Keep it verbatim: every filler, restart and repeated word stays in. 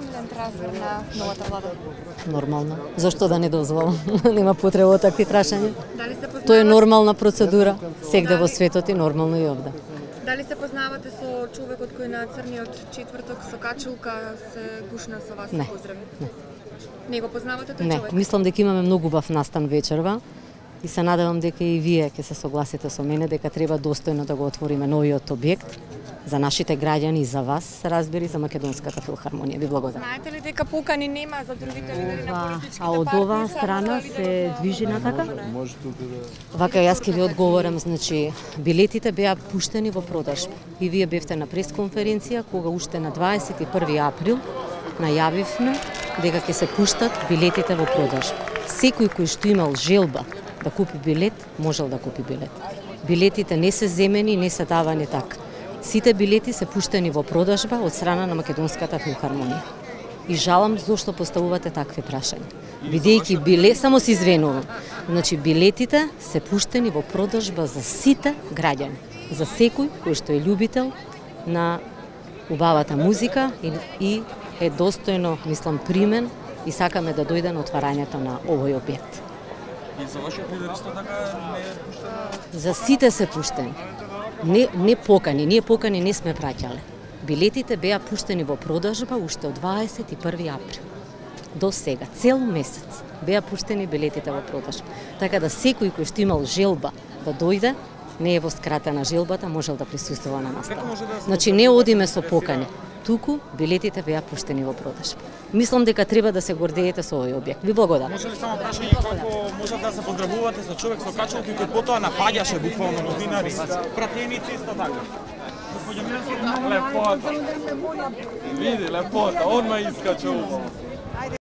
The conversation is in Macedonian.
принуден трансфер на новата влада? Нормално. Зашто да не дозволам? Нема потреба од такви прашања. Дали се познавате? Тоа е нормална процедура, сегде во светот и нормално и овде. Дали се познавате со човекот кој на црниот четврток со качулка се гушна со вас Не. поздрави? Не. Не го познавате тој Не, човек? мислам дека имаме многу убав настан вечерва и се надевам дека и вие ќе се согласите со мене дека треба достојно да го отвориме новиот објект за нашите граѓани и за вас, разбери, за Македонската филхармонија. Ви благодарам. Знаете ли дека покани нема за другите лидери на Ова, политичките а од партии, оваа само страна за се лидерот на- движи натака? Вака јас ќе ви одговорам, значи билетите беа пуштени во продажба. И вие бевте на пресконференција кога уште на дваесет и први април најавивме дека ќе се пуштат билетите во продажба. Секој кој што имал желба да купи билет, можел да купи билет. Билетите не се земени, не се давани така. Сите билети се пуштени во продажба од страна на Македонската филхармонија. И жалам зошто поставувате такви прашања. Бидејќи билет, само се извинувам. Значи билетите се пуштени во продажба за сите граѓани, за секој кој што е љубител на убавата музика и, и е достојно, мислам, примен и сакаме да дојде на отварањето на овој објект. И за вашиот лидер исто така не е пуштено? За сите се пуштени. Не, не покани, ние покани не сме праќале. Билетите беа пуштени во продажба уште од дваесет и први април. До сега, цел месец, беа пуштени билетите во продажба. Така да секој кој што имал желба да дојде, не е во скратена желбата, можел да присуствува на настава. Значи не одиме со покани, туку билетите беа пуштени во продажба. Мислам дека треба да се гордеете со овој објект. Ви благодарам. Може ли само прашање како може да се поздравувате со човек со качулки кој потоа напаѓаше буквално новинари, пратеници исто така? Господје Милевски, лепота. Види, лепота, одма искачува.